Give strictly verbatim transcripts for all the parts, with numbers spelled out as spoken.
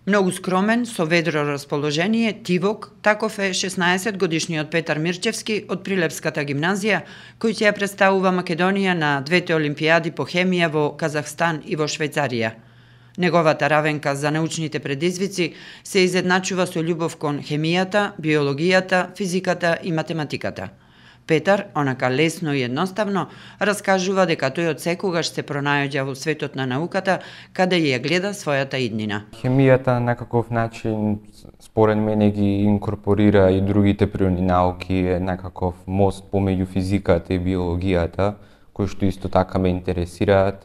Многу скромен, со ведро расположение, тивок, таков е шеснаесет годишниот Петар Мирчевски од Прилепската гимназија, кој ќе ја представува Македонија на двете олимпијади по хемија во Казахстан и во Швајцарија. Неговата равенка за научните предизвици се изедначува со љубов кон хемијата, биологијата, физиката и математиката. Петар, онака лесно и едноставно, раскажува дека тој од секогаш се пронаоѓа во светот на науката, каде ја гледа својата иднина. Хемијата на некаков начин, според мене, ги инкорпорира и другите природни науки, е некаков мост помеѓу физиката и биологијата, кои што исто така ме интересираат.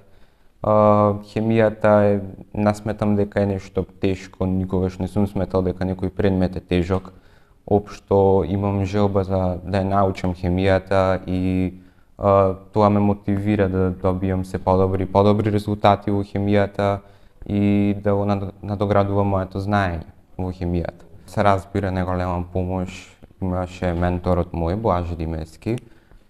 Хемијата е, не сметам дека е нешто тешко, никогаш не сум сметал дека некој предмет е тежок. Општо имам желба за да ја научам хемијата и а, тоа ме мотивира да добијам се подобри подобри резултати во хемијата и да го надоградувам моето знаење во хемијата. Се разбира, неголема помош имаше менторот мој, Блаже Димески,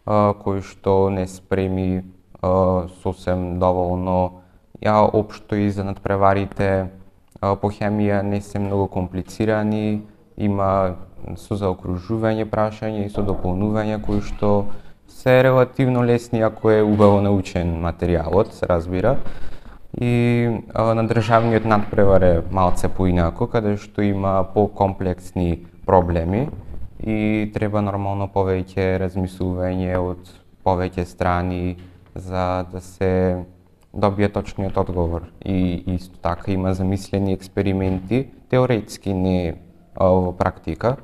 а, кој што не спреми а, сосем доволно. Ја општо и за надпреварите а, по хемија не се многу комплицирани, има со заокружување прашања и со дополнување кои што се релативно лесни ако е убаво научен материјалот, се разбира. И а, на државниот надпревар е малце поинако, каде што има покомплексни проблеми и треба нормално повеќе размислување од повеќе страни за да се добие точниот одговор. И исто така има замислени експерименти, теоретски не во практика,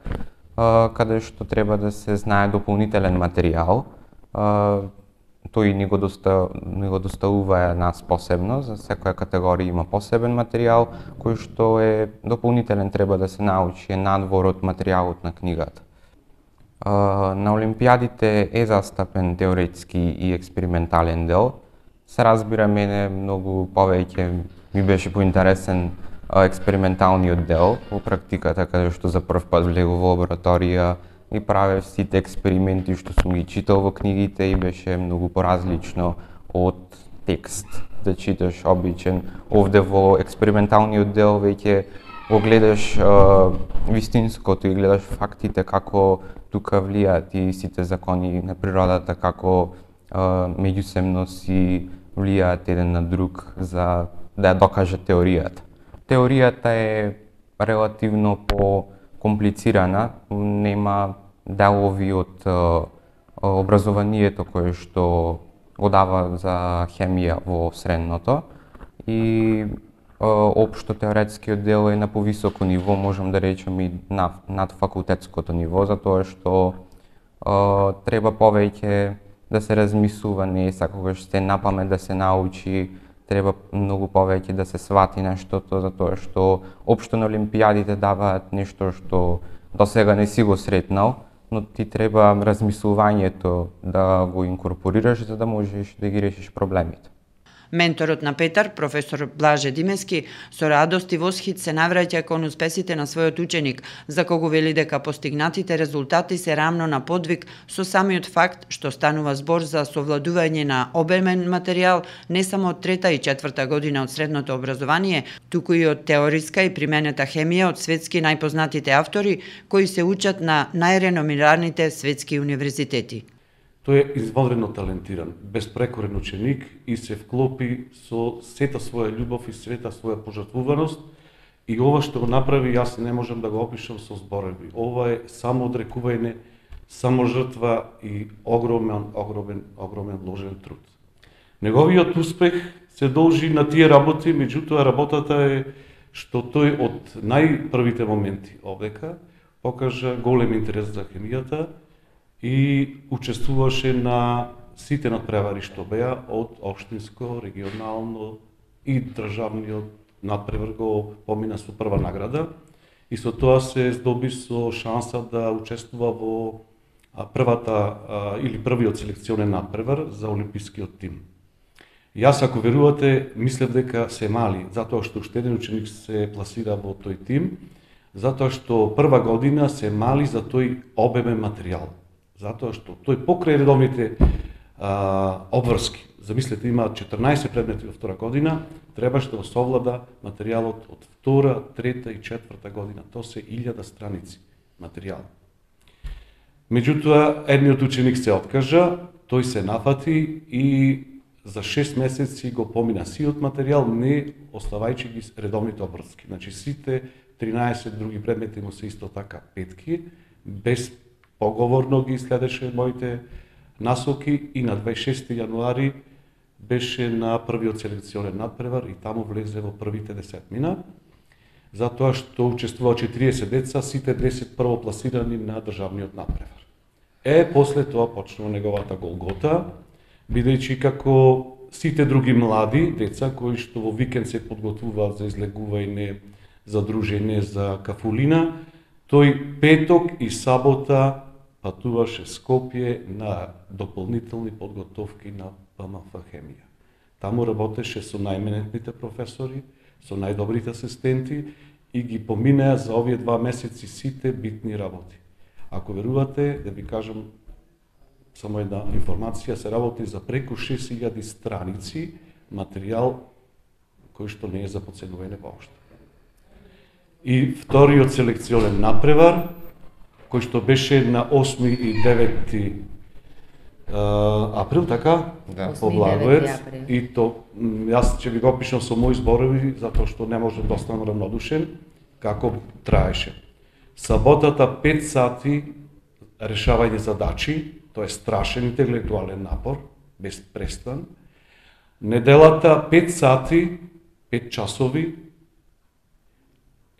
каде што треба да се знае дополнителен материјал. Тој ни го, доста, ни го доставува нас посебно, за секоја категорија има посебен материјал, кој што е дополнителен, треба да се научи, е надвор од материјалот на книгата. На олимпијадите е застапен теоретски и експериментален дел. Се разбира, мене многу повеќе ми беше поинтересен експерименталниот дел во практиката, каде што за прв пат влегов во лабораторија и правев сите експерименти што сум ги читал во книгите и беше многу поразлично од текст да читаш обичен. Овде во експерименталниот дел веќе го гледаш а, вистинското и гледаш фактите како тука влијаат и сите закони на природата, како а, меѓусебно си влијаат еден на друг за да ја докаже теоријата. Теоријата е релативно по-комплицирана, нема делови од е, образованието кое што го дава за хемија во средното и е, општо теоретскиот дел е на повисоко ниво, можам да речем и над, над факултетското ниво, затоа што е, треба повеќе да се размислува, не секогаш се напамет да се научи, треба многу повеќе да се свати нештото, затоа што општо на олимпијадите даваат нешто што досега не си го сретнал, но ти треба размислувањето да го инкорпорираш за да можеш да ги решиш проблемите. Менторот на Петар, професор Блаже Димески, со радост и восхит се навраќа кон успесите на својот ученик, за кого вели дека постигнатите резултати се рамно на подвиг со самиот факт што станува збор за совладување на обемен материјал не само од трета и четврта година од средното образование, туку и од теориска и применета хемија од светски најпознатите автори кои се учат на најреномираните светски универзитети. Тој е извонредно талентиран, безпрекорен ученик и се вклопи со сета своја љубов и сета своја пожртвуваност и ова што го направи, јас не можам да го опишам со зборови. Ова е само одрекување, само жртва и огромен, огромен, огромен вложен труд. Неговиот успех се должи на тие работи, меѓутоа работата е што тој од најпрвите моменти овдека покажа голем интерес за хемијата и учествуваше на сите надпревари што беа од општинско, регионално и државниот надпревар го помина со прва награда и со тоа се здоби со шанса да учествува во првата или првиот селекционен надпревар за олимпискиот тим. Јас, ако верувате, мислев дека се мали, затоа што уште еден ученик се пласира во тој тим, затоа што прва година се мали за тој обемен материјал. Затоа што тој покрај редовните а, обврски замислете, има четрнаесет предмети во втора година, требаше да совлада материјалот од втора, трета и четврта година. Тоа се илјада страници материјал. Меѓутоа, едниот ученик се откажа, тој се нафати и за шест месеци го помина сиот материјал, не оставајќи ги редовните обврски. Значи, сите тринаесет други предмети му се исто така петки, без поговорно ги следеше моите насоки и на дваесет и шести јануари беше на првиот селекционен надпревар и таму влезе во првите десетмина, затоа што учествува четириесет деца, сите десет првопласирани на државниот надпревар. Е, после тоа почнува неговата голгота, бидејќи како сите други млади деца кои што во викенд се подготвуваат за излегување, за дружење, за кафулина, тој петок и сабота патуваше Скопје на дополнителни подготовки на П М Ф хемија. Таму работеше со најменетните професори, со најдобрите асистенти и ги поминеа за овие два месеци сите битни работи. Ако верувате, да ви кажам само една информација, се работи за преку шест илјади страници материјал кој што не е за подценување воопшто. И вториот селекционен надпревар, кој што беше на осми и девети април, така? Да. По Благоевец. И то, јас ќе ви го опишам со мои зборови, затоа што не можам да останам равнодушен, како траеше. Саботата пет сати решавање задачи, тоа е страшен интелектуален напор, без престан. Неделата пет сати, пет часови,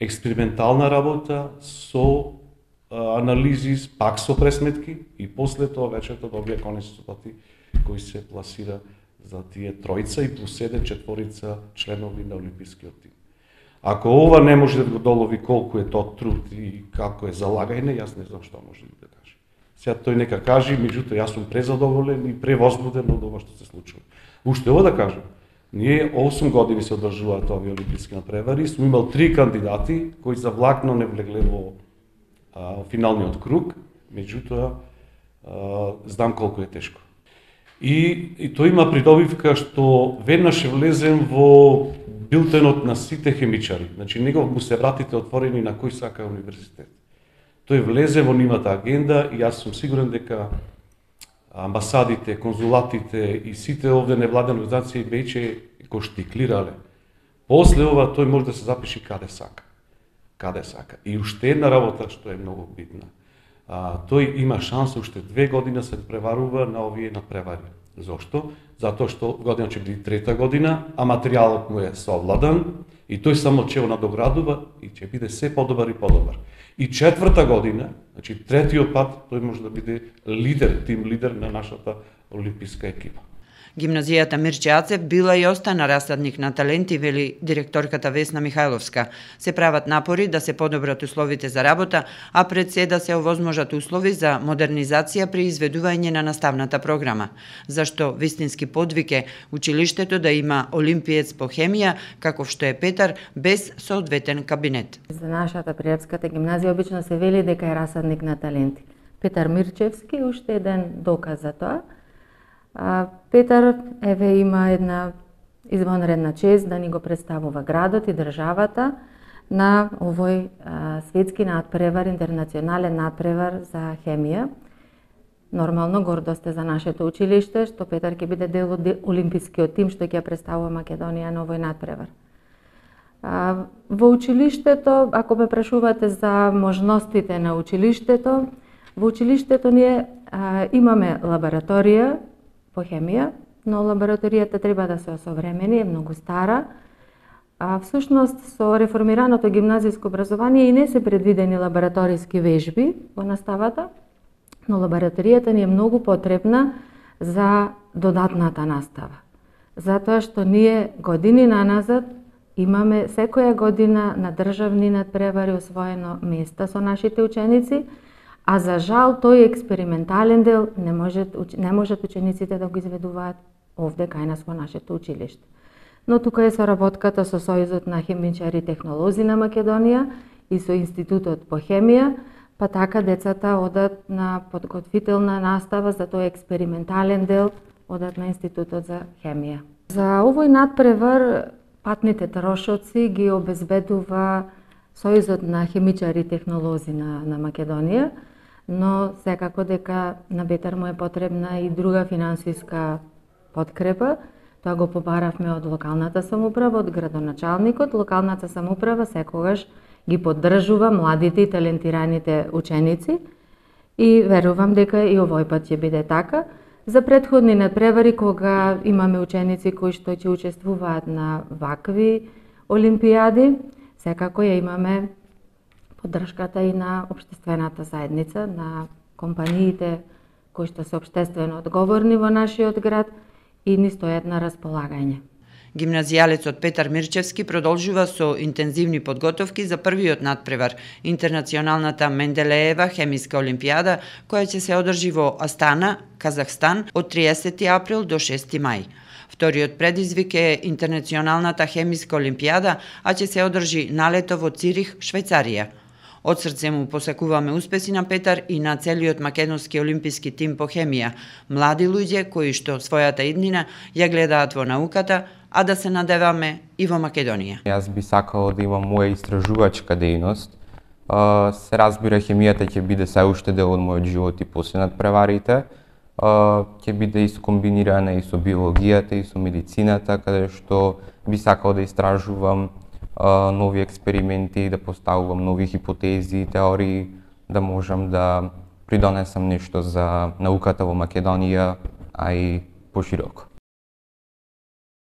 експериментална работа со анализи, пак со пресметки и после тоа вечерта добија конечни резултати кои се пласира за тие тројца и плюс еден четворица членови на олимпискиот тим. Ако ова не може да го долови колку е тоа труд и како е залагање, јас не знам што може да каже. Сега тој нека каже, меѓутоа јас сум презадоволен и превозбуден од ова што се случува. Уште ова да кажам, ние осум години се одржуваат овие олимписки надпревари, сум имал три кандидати кои за влакно не влегле во а, финалниот круг, меѓутоа а, знам колку е тешко. И, и тој има придобивка што веднаш влезем во билтенот на сите хемичари. Значи, него му се вратите отворени на кој сака универзитет. Тој влезе во нивната агенда и јас сум сигурен дека амбасадите, конзулатите и сите овде невладени организации веќе го штиклирале. После ова тој може да се запише каде сака. Каде сака. И уште една работа што е многу битна. А, тој има шанса уште две година се преварува на овие надпревари. Зошто? Затоа што година ќе биде трета година, а материјалот му е совладан и тој само ќе го надоградува и ќе биде се подобар и подобар. И четврта година, значи третиот пат, тој може да биде лидер, тим лидер на нашата олимписка екипа. Гимназијата Мирче Ацев била и остана расадник на таленти, вели директорката Весна Михајловска. Се прават напори да се подобрат условите за работа, а пред се да се овозможат услови за модернизација при изведување на наставната програма. Зашто вистински подвиг е училиштето да има олимпиец по хемија, каков што е Петар, без соодветен кабинет. За нашата Прилепската гимназија обично се вели дека е расадник на таленти. Петар Мирчевски уште еден доказ за тоа. Петар еве има една извонредна чест да ни го представува градот и државата на овој а, светски надпревар, интернационален надпревар за хемија. Нормално гордост е за нашето училиште што Петар ќе биде дел од олимпискиот тим што ќе представува Македонија на овој надпревар. А, во училиштето, ако ме прашувате за можностите на училиштето, во училиштето ние а, имаме лабораторија по хемија, но лабораторијата треба да се осовремени, е многу стара. А всушност со реформираното гимназиско образование и не се предвидени лабораториски вежби во наставата, но лабораторијата ни е многу потребна за додатната настава. Затоа што ние години наназад имаме секоја година на државни надпревари освоено места со нашите ученици, а за жал тој експериментален дел не можат, не можат учениците да го изведуваат овде кај нас во нашето училиште. Но тука е соработката со Сојузот на хемичари и технолози на Македонија и со Институтот по хемија, па така децата одат на подготвителна настава за тој експериментален дел одат на Институтот за хемија. За овој надпревар патните трошоци ги обезбедува Сојузот на хемичари и технолози на, на Македонија, но секако дека на Петар му е потребна и друга финансиска подкрепа. Тоа го побаравме од локалната самоуправа, од градоначалникот. Локалната самоуправа секогаш ги поддржува младите и талентираните ученици и верувам дека и овој пат ќе биде така. За претходни надпревари, кога имаме ученици кои што ќе учествуваат на вакви олимпијади, секако ја имаме поддршката и на општествената заедница, на компаниите кои што се општествено одговорни во нашиот град и ни стојат на располагање. Гимназијалецот Петар Мирчевски продолжува со интензивни подготовки за првиот надпревар, Интернационалната Менделеева хемиска олимпијада, која ќе се одржи во Астана, Казахстан, од триесети април до шести мај. Вториот предизвик е Интернационалната хемиска олимпијада, а ќе се одржи налето во Цирих, Швајцарија. Од срце му посакуваме успеси на Петар и на целиот македонски олимписки тим по хемија, млади луѓе кои што својата иднина ја гледаат во науката, а да се надеваме и во Македонија. Јас би сакал да имам моја истражувачка дејност. Се разбира, хемијата ќе биде се уште дел од мојот живот и после надпреварите. Ќе биде искомбинирана и со биологијата и со медицината, каде што би сакал да истражувам нови експерименти, да поставувам нови хипотези, теории, да можам да придонесам нешто за науката во Македонија, а и пошироко.